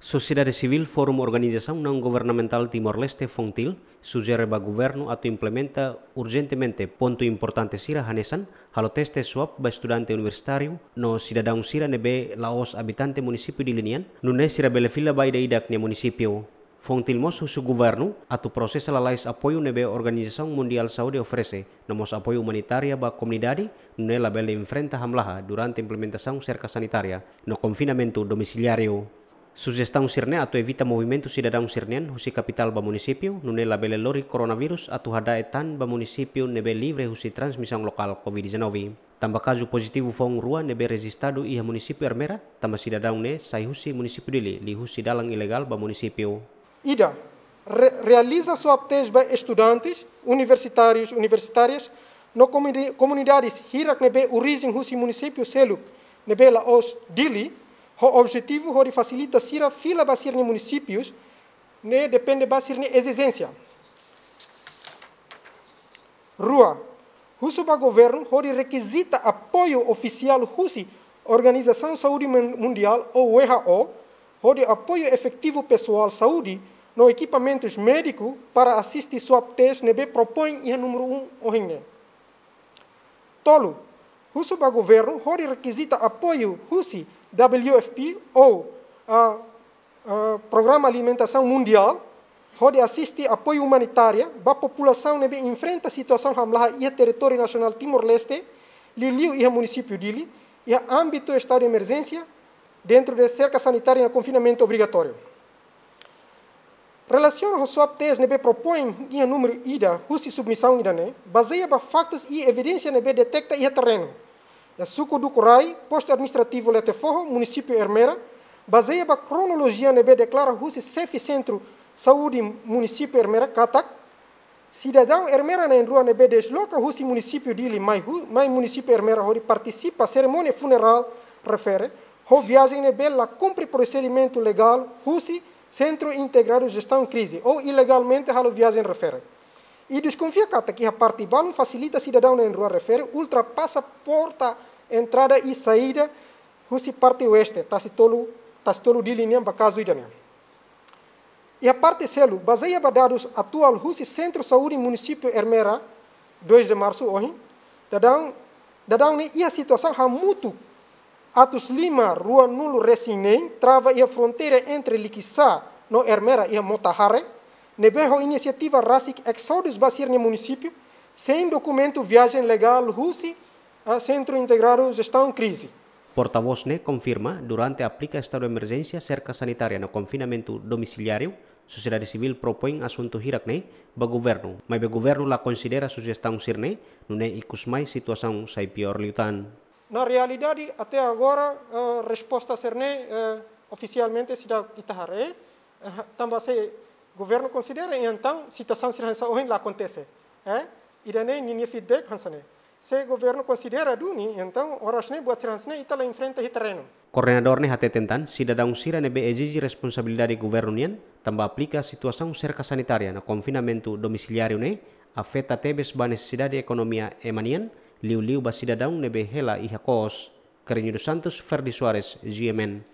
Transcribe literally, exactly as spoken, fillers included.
Sosiedade Sivíl Forum Organizasaun Naun Governamentál Timor-Leste, FONGTIL, sujere ba governu atu implementa urjentemente pontu importante sira hanesan halo teste swab ba estudante universitáriu no sidadaun sira ne'ebé la'ós abitante munisípiu Dili nian, nune'e sira bele fila ba ida-idak nia munisípiu. FONGTIL mós husu governu atu prosesa lalais apoiu ne'ebé Organizasaun Mundiál Saúde oferese, no mós apoiu umanitária ba komunidade, nune'e labele enfrenta hamlaha durante implementasaun serka sanitária no konfinamentu domisiliáriu. Sujestaun sira-ne'e atu evita movimentu sidadaun sira-nian husi kapitál ba munisípiu, nune'e labele lori koronavírus atu hada'et tan ba munisípiu ne'ebé livre husi transmisaun lokál COVID dezanove. Tanba kazu pozitivu foun rua ne'ebé rejistadu iha munisípiu Ermera, tanba sidadaun ne'e sai husi munisípiu Dili, liuhusi dalan ilegál ba munisípiu. Ida, re-, realiza swab test ba estudantes, universitárius, universitárias, no komuni-, komunidades hirak ne'ebé orijen husi munisípiu seluk ne'ebé la'ós Dili, ho objetivu hodi fasilita sira fila ba sira-nia munisípius ne'e depende ba sira-nia ezijénsia. Rua, husu ba governu hodi rekizita apoiu ofisiál husi Organizasaun Saúde Mun-, Mundiál ou W H O, hodi apoiu efetivu pesoál saúde no ekipamentus médiku para asiste swab test ne'ebé propoin iha númeru um ohin ne'e. Tolu, husu ba governu hodi rekizita apoiu husi W F P ou, ah, ah, Programa Alimentasaun Mundiál, hodi asiste apoiu umanitária ba populasaun ne'ebé enfrenta situasaun hamlaha iha territóriu nasionál Timor-Leste, liuliu iha munisípiu Dili, iha ámbitu estadu de emerjénsia, dentru de serka sanitária no konfinamentu obrigatóriu. Relasiona ho swab test ne'ebé propoin iha númeru ida husi submisaun ida-ne'e, bazeia ba faktus i evidénsia ne'ebé deteta iha terrenu. Iha suku Dukurai, postu administrativu Letefoho, munisípiu Ermera, bazeia ba kronolojia ne'ebé deklara husi xefe sentru saúde munisípiu Ermera katak, sidadaun Ermera na'in-rua ne'ebé desloka husi munisípiu Dili mai hu-, mai munisípiu Ermera hodi partisipa serimónia funerál refere, ho viajen ne'ebé la kumpre prosedimentu legál husi Sentru Integradu Jestaun Krize, ou ilegalmente halo viajen refere. I deskonfia katak iha parte balun fasilita sidadaun na'in-rua refere ultrapasa porta entrada i saída husi parte oeste, Tasi Tolu, Tasi Tolu Dili nian ba kazu ida-ne'e. Iha parte seluk, bazeia ba dadus atuál husi Sentru Saúde Munisípiu Ermera, dois de Março ohin, dadaun, dadaun ne'e iha situasaun hamutuk atus lima ruanulu-resin-neen trava iha fronteira entre Likisá no Ermera iha Mota Hare, ne'ebé ho inisiativa rasik eksodus ba sira-nia munisípiu, sein dokumentu viajen legál husi, ah, Sentru Integradu Jestaun Krize. Portavós ne'e konfirma, durante aplika estadu emerjénsia serka sanitária no konfinamentu domisiliáriu, sosiedade sivíl propoin asuntu hirak-ne'e ba governu, maibé governu la konsidera sujestaun sira-ne'e, nune'e ikus mai situasaun sai piór liután. Na realidade, até agora, eh, resposta sira-ne'e, eh, ofisialmente seidauk ita haree, eh, tanba se governu konsidera, entaun situasaun sira hanesan ohin la akontese. Eh, ida-ne'e ninia feedback hanesan ne'e. Se governu konsidera duni, entaun oras ne'e buat sira hanesan ne'e ita la enfrenta iha terrenu. Koordenadór ne'e hateten tan, sidadaun sira ne'ebé ezije responsabilidade governu nian, tanba aplika situasaun serka sanitária no konfinamentu domisiliáriu ne'e afeta tebes ba nesesidade ekonomia ema nian, liuliu ba sidadaun ne'ebé hela iha kos. Carreño dos Santos, Ferdi Soares, G M N.